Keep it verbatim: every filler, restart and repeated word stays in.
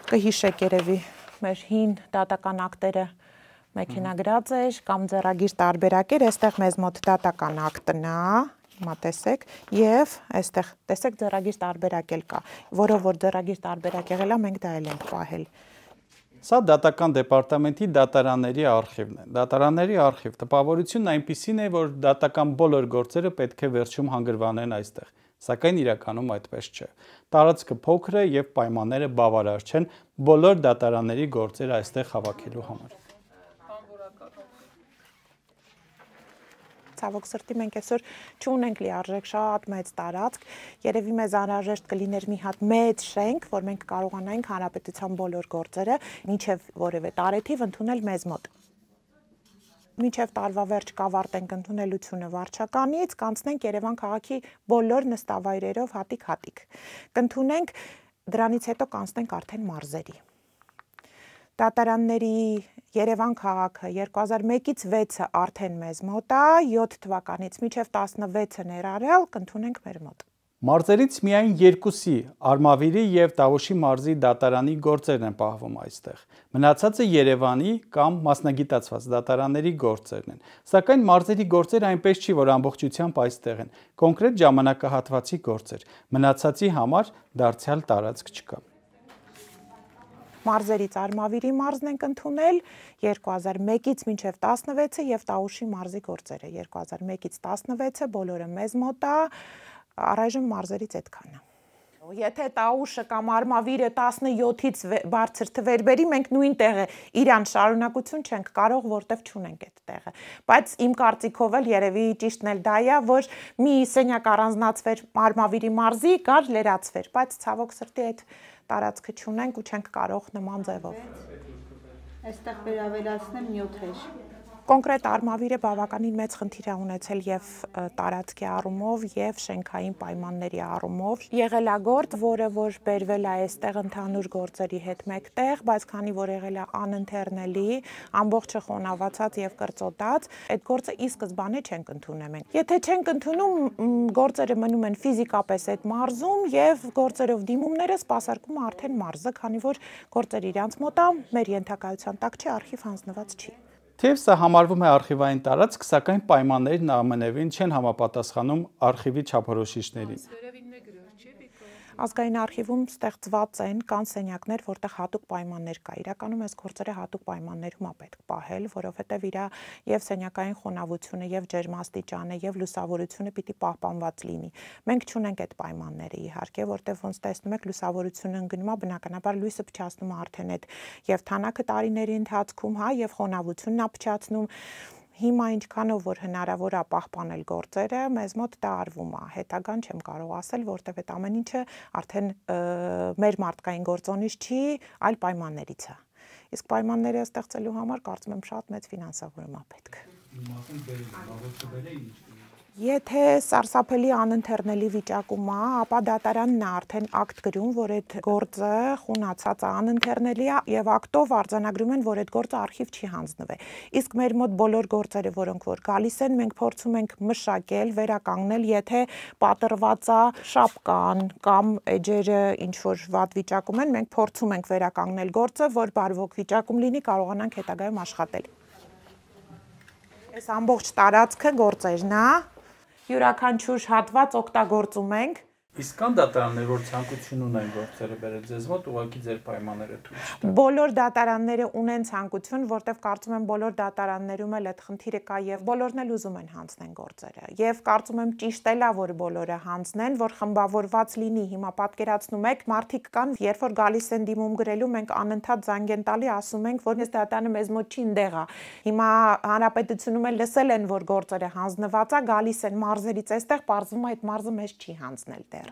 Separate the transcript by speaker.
Speaker 1: Կհիշեք երևի մեր հին դատական ակտերը մեքենագրած էր կամ ձեռագիր տարբերակ էր, այստեղ մեզ մոտ դատական ակտն է, հիմա տեսեք, եւ այստեղ տեսեք ձեռագիր տարբերակ էլ կա, որով որ ձեռագիր տարբերակ եղել է, մենք դա էլ ենք պահել։
Speaker 2: Սա դատական դեպարտամենտի դատարանների արխիվն է։ Դատարանների արխիվ տպավորությունն այնպիսին է, որ դատական բոլոր գործերը պետք է վերջում հանգրվանեն այստեղ, սակայն իրականում այդպես չէ։ Տարածքը փոքր է եւ պայմանները բավարար չեն բոլոր դատարանների գործերը այստեղ հավաքելու համար։
Speaker 1: Ցավոք սրտի մենք այսօր չունենք լիարժեք շատ մեծ տարածք, երևի մեզ անհրաժեշտ կլիներ մի հատ մեծ շենք, որ մենք կարողանայինք հանրապետության բոլոր գործերը մինչև որևէ տարեթիվ ընդունել մեզ մոտ։ Մինչև տարվա վերջ կավարտենք ընդունելությունը վարչականից, կանցնենք Երևան քաղաքի բոլոր նստավայրերով հատիկ-հատիկ։ Կընդունենք, դրանից հետո կանցնենք արդեն մարզերի։ Դատարանների Երևան քաղաքը երկու հազար մեկից վեցը արդեն մեզ մոտ է, յոթ թվականից մինչև տասնվեցը ներառյալ կընդունենք մեր մոտ։
Speaker 2: Մարզերից միայն երկուսի Արմավիրի եւ Տավուշի մարզի դատարանի գործերն են պահվում այստեղ։ Մնացածը Երևանի կամ մասնագիտացված դատարանների գործերն են։ Սակայն մարզերի գործերը այնպես չի, որ ամբողջությամբ այստեղ են։ Կոնկրետ ժամանակահատվածի գործեր։ Մնացածի համար դարձյալ տարածք չկա։
Speaker 1: Մարզերից Արմավիրի մարզն ենք ընդունել երկու հազար մեկից մինչև տասնվեցը եւ Տավուշի մարզի գործերը երկու հազար մեկից տասնվեցը բոլորը մեզ մոտ է, առայժմ մարզերից այդքանը։ Եթե Տավուշը կամ Արմավիրը տասնյոթից բարձր թվեր բերի, մենք նույն տեղը իրան շարունակություն չենք կարող, որտեվ չունենք այդ տեղը։ Բայց իմ կարծիքով էլ երևի ճիշտն էլ դա է, որ մի սենյակ առանձնացվեր Արմավիրի մարզի, կար լրացվեր, բայց ցավոք սրտի այդ տարածքը չունենք ու չենք կարող նման ձևով։
Speaker 3: Այստեղ վերավերացնեմ նյութեր։
Speaker 1: Կոնկրետ Արմավիրը բավականին մեծ խնդիր է ունեցել եւ տարածքի առումով եւ շենքային պայմանների առումով։ Եղելագործ, որը որ բերվել է այստեղ ընդհանուր գործերի հետ մեկտեղ, բայց քանի որ եղել է անընթեռնելի, ամբողջը խոնավացած եւ կրծոտած, այդ գործը ի սկզբանե չենք ընդունել մենք։ Եթե չենք ընդունում, գործերը մնում են ֆիզիկապես այդ մարզում եւ գործերով դիմումները սպասարկում է արդեն մարզը, քանի որ գործերը իրանց մոտ է, մեր ենթակայության տակ չի, արխիվ հանձնված չի։
Speaker 2: Թեև սա համարվում է արխիվային տարածք, սակայն պայմաններն ամենևին չեն համապատասխանում արխիվի չափորոշիչներին։
Speaker 1: Ազգային արխիվում ստեղծված են կան սենյակներ, որտեղ հատուկ պայմաններ կա։ Իրականում այս գործերը հատուկ պայմաններում է պետք պահել, որովհետև իր եւ սենյակային խոնավությունը, եւ ջերմաստիճանը, եւ լուսավորությունը պիտի պահպանված լինի։ Մենք չունենք այդ պայմանները իհարկե, որտեղ ոնց տեսնում եք լուսավորությունը ընկնում է, բնականաբար լույսը փչացնում է արդեն այդ եւ թանակը տարիների ընթացքում, հա, եւ խոնավությունն է փչացնում։ Հիմա ինչքանով որ հնարավոր է պահպանել գործերը, մեզ մոտ դա արվում է։ Հետագան չեմ կարող ասել, որտեղ այդ ամեն ինչը արդեն մեր մարդկային գործոնից չի, այլ պայմաններից է։ Իսկ պայմանները ստեղծելու համար կարծում եմ շատ մեծ ֆինանսավորում է պետք։ Եթե սարսափելի անընթեռնելի վիճակում է, ապա դատարանն է արդեն ակտ գրում, որ այդ գործը խունացած է, անընթեռնելի է եւ ակտով արձանագրում են, որ այդ գործը արխիվ չի հանձնվել։ Իսկ մեր մոտ բոլոր գործերը, որոնք որ գալիս են, մենք փորձում ենք մշակել, վերականգնել, եթե պատրված է շապկան կամ էջերը ինչ որ վատ վիճակում են, մենք փորձում ենք վերականգնել գործը, որ բարվոք վիճակում լինի, կարողանանք հետագայում աշխատել։ Այս ամբողջ տարածքը գործերն է, յուրաքանչյուր հատված օգտագործում ենք։
Speaker 2: Իսկ կան դատարաններ, որ ցանկություն ունեն գործերը բերել ձեզ մոտ, ուղղակի ձեր պայմանները թույլ չտան։
Speaker 1: Բոլոր դատարանները ունեն ցանկություն, որտեղ կարծում եմ բոլոր դատարաններում էլ այդ խնդիրը կա եւ բոլորն էլ ուզում են հանձնեն գործերը։ Եվ կարծում եմ ճիշտ էլ է, որ բոլորը հանձնեն, որ խմբավորված լինի։ Հիմա պատկերացնում եք, մարդիկ կան, երբ որ գալիս են դիմում գրելու, մենք անընդհատ զանգ են տալի, ասում ենք, որ այս դատարանը մեզ մոտ չի ընդեղ է։ Հիմա հանրապետությունում էլ լսել են, որ գործերը հանձնված է, գալիս են մարզերից այստեղ, պարզվում է այդ մարզը մեզ չի հանձնել դեռ։